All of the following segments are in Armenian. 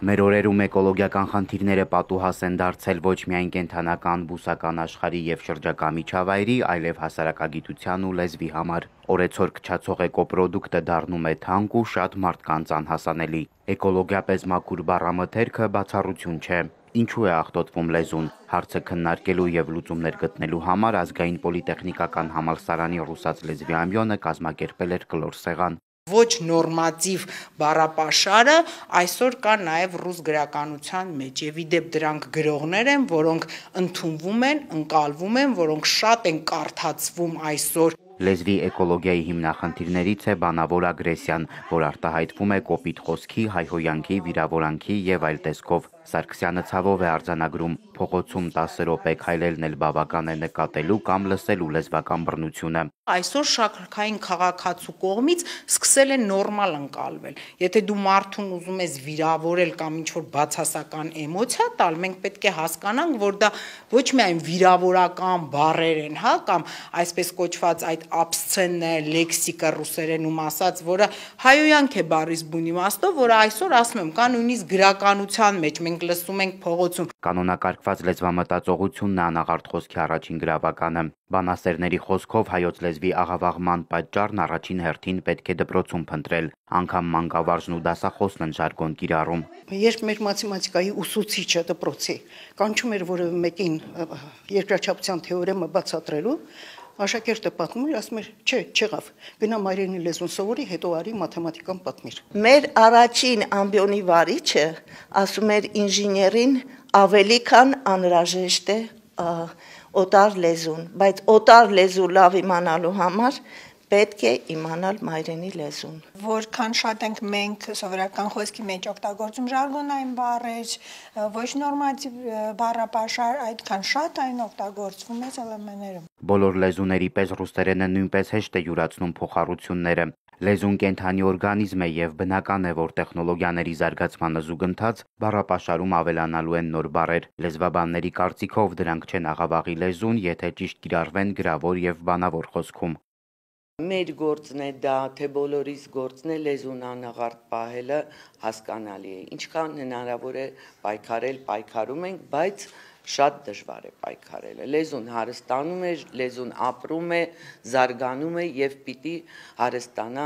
Մեր օրերում էկոլոգիական խնդիրները պատուհաս են դարձել ոչ միայն կենդանական, բուսական աշխարհի եւ շրջակա միջավայրի, այլև հասարակագիտության ու լեզվի համար։ Օրեցօր քչացող էկոպրոդուկտը դառնում է թանկ ու շատ մարդկանց անհասանելի։ Էկոլոգիապես մաքուր բառամթերքը բացառություն չէ։ Ինչու է աղտոտվում լեզուն։ Հարցը քննարկելու եւ լուծումներ գտնելու համար Ազգային պոլիտեխնիկական համալսարանի ռուսաց լեզվի ամբիոնը կազմակերպել էր կլոր սեղան։ Ոչ նորմատիվ բառապաշարը այսօր կա նաև ռուս գրականության մեջ եւ իդեպ դրանք գրողներ են, որոնք ընդունվում են, ընկալվում են, որոնք շատ են կարդացվում այսօր։ Լեզվի էկոլոգիայի հիմնախնդիրներից է բանավոր ագրեսիան, որ արտահայտվում է կոպիտ խոսքի, հայհոյանքի, վիրավորանքի եւ այլ տեսքով։ Սարգսյանը ցավով է արձանագրում, փողոցում 10 րոպե քայլելն էլ բավական է նկատելու կամ լսելու լեզվական բռնությունը։ Այսօր շարքային քաղաքացու կողմից սկսել է նորմալ ընկալվել։ Եթե դու մարդուն ուզում ես վիրավորել կամ ինչ-որ բացասական էմոցիա տալ, մենք պետք է հասկանանք, որ դա ոչ միայն վիրավորական բառեր են, հա, կամ այսպես կոչված այդ աբսցեններ, լեքսիկա ռուսերենում ասած, որը հայոյանք է բառից բուն իմաստով, որը այսօր ասում եմ, կա նույնիսկ գրականության մեջ, մենք լսում ենք փողոցում։ Կանոնակարգված լեզվամտածողությունն է անաղարտ խոսքի առաջին գրավականը։ Բանասերների խոսքով հայոց լեզվի աղավաղման պատճառն առաջին հերթին պետք է դպրոցում փնտրել, անգամ մանկավարժն ու դասախոսն են ժարգոն կիրառում։ Երբ մեր մաթեմատիկայի ուսուցիչը դպրոցի կանչում էր որևէ մեկին երկրաչափության թեորեմը բացատրելու, աշակերտը պատմում էր, ասում էր, չէ, չեղավ, գնա մայրենի լեզուն սովորի, հետո արի մաթեմատիկան պատմիր։ Մեր առաջին ամբիոնի վարիչը ասում էր ինժեներին ավելի քան անհրաժեշտ է օտար լեզուն, բայց օտար լեզու լավ իմանալու համար պետք է իմանալ մայրենի լեզուն։ Որքան շատ ենք մենք սովորական խոսքի մեջ օգտագործում ժարգոնային բառեր, ոչ նորմատիվ բառապաշար, այդքան շատ այն օգտագործվում է ԵԼՄ-ներում։ Բոլոր լեզուների պես ռուսերենը նույնպես հեշտ է յուրացնում փոխառությունները։ Լեզուն կենդանի օրգանիզմ է եւ բնական է, որ տեխնոլոգիաների զարգացմանը զուգընթաց բառապաշարում ավելանալու են նոր բառեր։ Լեզվաբանների կարծիքով դրանք չեն աղավաղի լեզուն, եթե ճիշտ կիրառվեն գրավոր եւ բանավոր խոսքում։ Մեր գործն է դա, թե բոլորիս գործն է լեզուն անաղարտ պահելը հասկանալի է։ Ինչքան հնարավոր է պայքարել, պայքարում ենք, բայց շատ դժվար է պայքարելը։ Լեզուն հարստանում է, լեզուն ապրում է, զարգանում է եւ պիտի հարստանա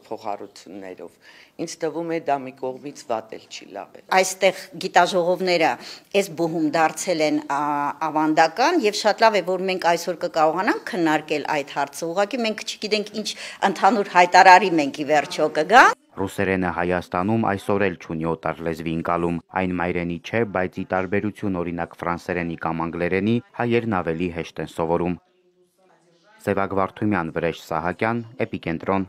փոխառություններով։ Ինձ թվում է դա մի կողմից վատ էլ չի, լավ է։ Այստեղ գիտաժողովները այս բուհում դարձել են ավանդական եւ շատ լավ է, որ մենք այսօր կկարողանանք քննարկել այդ հարցը։ Ուղղակի մենք չգիտենք ինչ ընդհանուր հայտարարի մենք ի վերջո կգա։ Ռուսերենը Հայաստանում այսօր էլ չունի օտար լեզվի ընկալում, այն մայրենի չէ, բայց ի տարբերություն օրինակ ֆրանսերենի կամ անգլերենի, հայերն ավելի հեշտ են սովորում։ Սևակ Վարդումյան, Վրեժ Սահակյան, Էպիկենտրոն։